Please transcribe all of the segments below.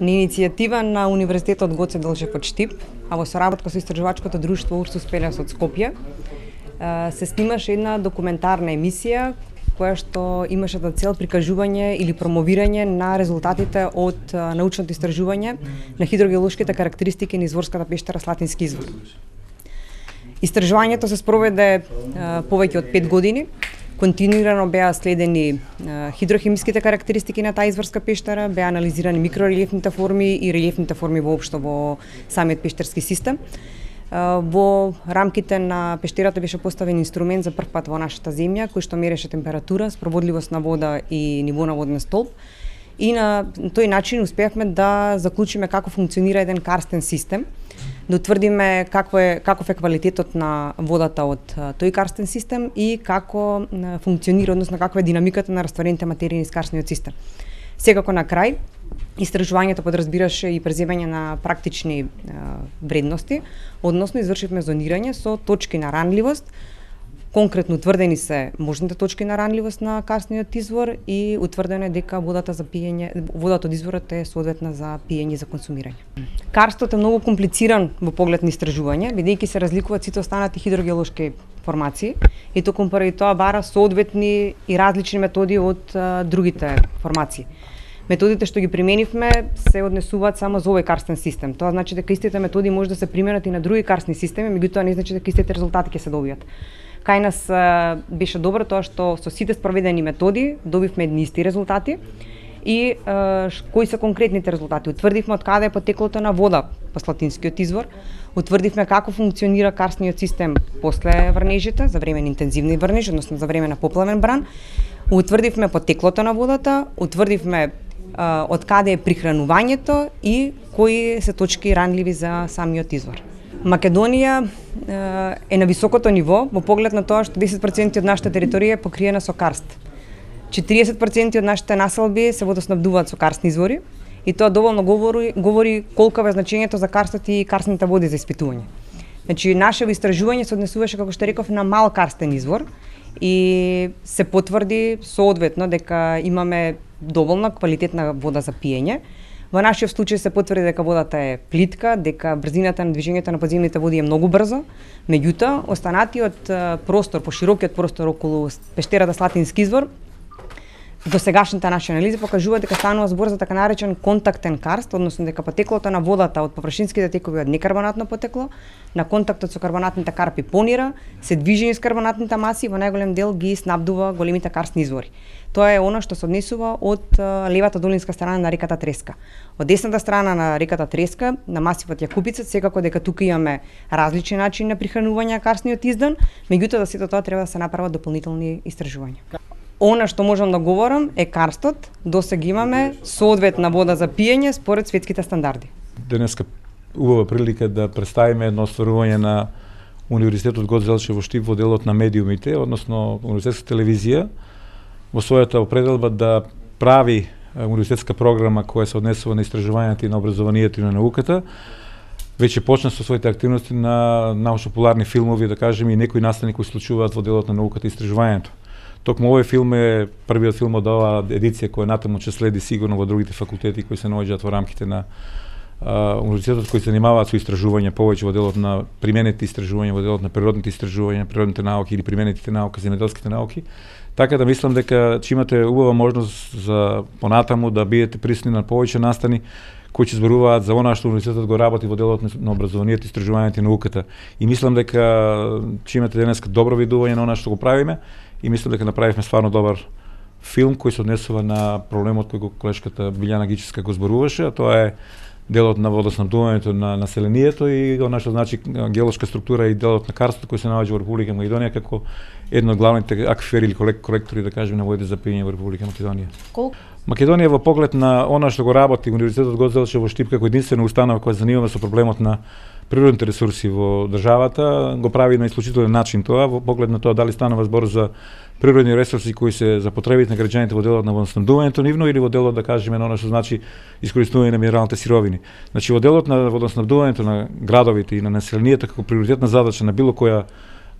На иницијатива на Универзитетот Гоце Делчев од Штип, а во соработка со истражувачкото друштво Урсус Пелес од Скопје, се снимаше една документарна емисија која што имаше за цел прикажување или промовирање на резултатите од научното истражување на хидрогеолошките карактеристики на изворската пештера Слатински извор. Истражувањето се спроведе повеќе од 5 години. Континуирано беа следени хидрохемиските карактеристики на таа изворска пештера, беа анализирани микрорелиефните форми и релиефните форми воопшто во самиот пештерски систем. Во рамките на пештерата беше поставен инструмент за прв пат во нашата земја, кој што мереше температура, спроводливост на вода и ниво на воден столб. И на тој начин успеавме да заклучиме како функционира еден карстен систем, да утврдиме каков е квалитетот на водата од тој карстен систем и како функционира, односно каква е динамиката на растворените материи низ карстниот систем. Секако на крај, истражувањето подразбираше и преземање на практични вредности, односно извршивме зонирање со точки на ранливост. Конкретно утврдени се можните точки на ранливост на карстниот извор и утврдено е дека водата од изворот е соодветна за пиење и за консумирање. Карстот е многу комплициран во поглед на истражување, бидејќи се разликуваат сите останати хидрогеолошки формации и токму поради тоа бара соодветни и различни методи од другите формации. Методите што ги применивме се однесуваат само за овој карстен систем. Тоа значи дека истите методи може да се применат и на други карстни системи, меѓутоа не значи дека истите резултати ќе се добијат. Кај нас беше добро тоа што со сите спроведени методи добивме едни исти резултати и кои се конкретните резултати. Утврдивме од каде е потеклото на вода по Слатинскиот извор, утврдивме како функционира карстниот систем после врнежите, за време на интензивни врнежи, односно за време на поплавен бран, утврдивме потеклото на водата, утврдивме од каде е прихранувањето и кои се точки ранливи за самиот извор. Македонија е на високото ниво во поглед на тоа што 10% од нашата територија е покриена со карст. 40% од нашите населби се водоснабдуваат со карстни извори и тоа доволно говори колку е значењето за карстот и карстните води за испитување. Значи, нашето истражување се однесуваше, како што реков, на мал карстен извор и се потврди соодветно дека имаме доволно квалитетна вода за пиење. Во нашиот случај се потврди дека водата е плитка, дека брзината на движењето на подземните води е многу брзо, меѓутоа останатиот простор, поширокиот простор околу пештерата Слатински извор, до сегашните наши анализи покажува дека станува збор за така наречен контактен карст, односно дека потеклото на водата од површинските текови од некарбонатно потекло, на контактот со карбонатните карпи понира, се движи низ карбонатните маси и во најголем дел ги снабдува големите карстни извори. Тоа е она што се однесува од левата долинска страна на реката Треска. Од десната страна на реката Треска, на масивот Јакупица, секако дека тука имаме различни начини на прихранување на карстниот издан, меѓутоа за сето тоа треба да се направат дополнителни истражувања. Она што можам да говорам е карстот, досега имаме соодветна вода за пиење според светските стандарди. Денеска убава прилика да представиме едно остварување на Универзитетот Гоце Делчев во Штип во делот на медиумите, односно универзитетска телевизија, во својата определба да прави универзитетска програма која се однесува на истражувањето и на образованието и на науката. Веќе почна со своите активности на научно-популарни филмови, да кажеме, и некои настани кои случуваат во делот на науката и истражувањето. Токму овој филм е првиот филм од оваа едиција која натаму ќе следи сигурно во другите факултети кои се наоѓаат во рамките на универзитетот кои се занимаваат со истражување повеќе во делот на применети истражувања, во делот на природните истражувања, природните науки или применетите науки, земјоделските науки. Така да мислам дека ќе имате убава можност за понатаму да бидете присутни на повеќе настани кои ќе зборуваат за она што универзитетот го работи во делот на образованието, истражувањето и науката. И мислам дека ќе имате денеска добро видување на она што го правиме и мислам дека направивме стварно добар филм кој се однесува на проблемот кој го колешката Билјана Гичевска го зборуваше, а тоа е делот на водоснабдувањето на населението и она што значи геолошка структура и делот на карстот кој се наоѓа во Република Македонија како едно од главните аквифери или колектори, да кажеме, на водите за пиење во Република Македонија. Македонија во поглед на она што го работи Универзитетот Гоце Делчев во Штип како единствена установа која се занимава со проблемот на природните ресурси во државата, го прави на исклучителен начин тоа, во поглед на тоа дали станува збор за природни ресурси кои се за потребите на граѓаните во делот на водоснабдувањето нивно или во делот, да кажеме, на она што значи искористување на минералните сировини. Значи во делот на водоснабдувањето на градовите и на населението како приоритетна задача на било која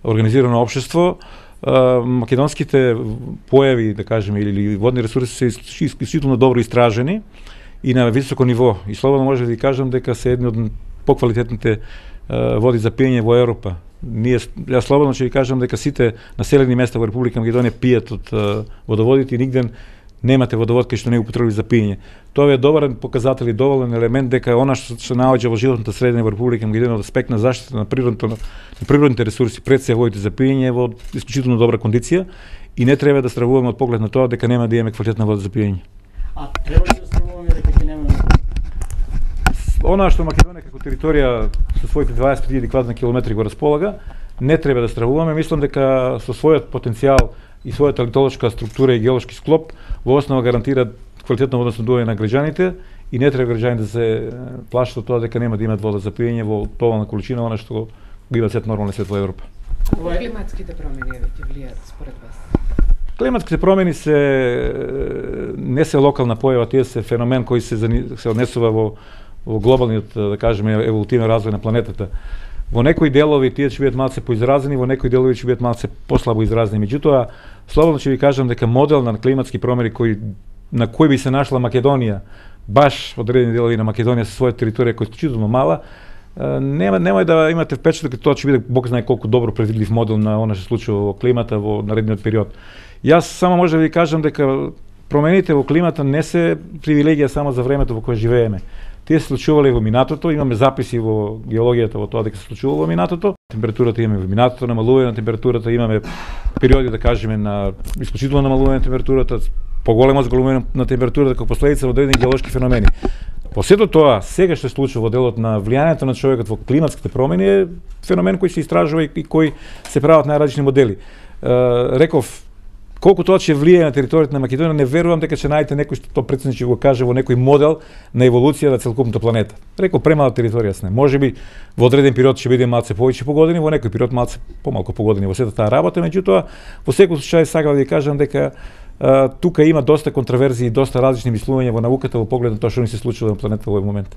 организирано општество, македонските појави, да кажеме, или водни ресурси се исклучително добро истражени и на високо ниво. И слободно може да ви кажам дека се едни од поквалитетните води за пиење во Европа. Јас слободно ќе ви кажам дека сите населени места во Република Македонија пијат од водоводите и нигде немате водовод кај што не го употребува за пиење. Тоа е добар показател и доволен елемент дека она што се наоѓа во животната средина во Република Македонија од аспект на заштита на природните ресурси, пред се водите за пиење во исклучително добра кондиција и не треба да стравуваме од поглед на тоа дека нема да имаме квалитетна вода за пиење. А треба ли да стравуваме дека ќе немаме? Она што Македонија како територија со своите 25.000 квадратни километри го располага, не треба да стравуваме. Мислам дека со својот потенцијал и својата литолошка структура и геолошки склоп во основа гарантира квалитетно водоснабдување на граѓаните и не треба граѓаните да се плашат од тоа дека нема да имат вода за пиење во доволна количина, она што го има сет нормален свет во Европа. Климатските промени ќе влијаат според вас? Климатските промени не се локална појава, тие се феномен кој се однесува во глобалниот, да кажеме, еволутивен развој на планетата. Во некои делови тие ќе бидат малце поизразени, во некои делови ќе бидат малце послабо изразени. Меѓутоа, слободно ќе ви кажам дека модел на климатски промени на кој би се нашла Македонија, баш во одредени делови на Македонија со своја територија која е исклучително мала, немај да имате впечаток дека тоа ќе биде бог знае колку добро предвидлив модел на она што се случува во климата во наредниот период. Јас само може да ви кажам дека промените во климата не се привилегија само за времето во кое живееме. Тие се случувале во минатото, имаме записи во геологијата во тоа дека се случувало во минатото. Температурата имаме во минатото, намалување на температурата, имаме периоди да кажеме на исклучително намалување на температурата, поголемо зголемување на температурата како последица во одредени геолошки феномени. По сето тоа, сега што се случува во делот на влијанието на човекот во климатските промени е феномен кој се истражува и кој се прават најразлични модели. Реков, колку тоа ќе влијае на територијата на Македонија, не верувам дека ќе најдете некој што тоа претседник ќе го каже во некој модел на еволуција на целокупната планета. Реков, премала територија сме. Можеби во одреден период ќе биде малце повеќе погодини, во некој период малце помалку погодини во сета таа работа, меѓутоа во секој случај сакам да ви кажам дека тука има доста контраверзии и доста различни мислувања во науката во поглед на тоа што ни се случува на планетата во овој момент.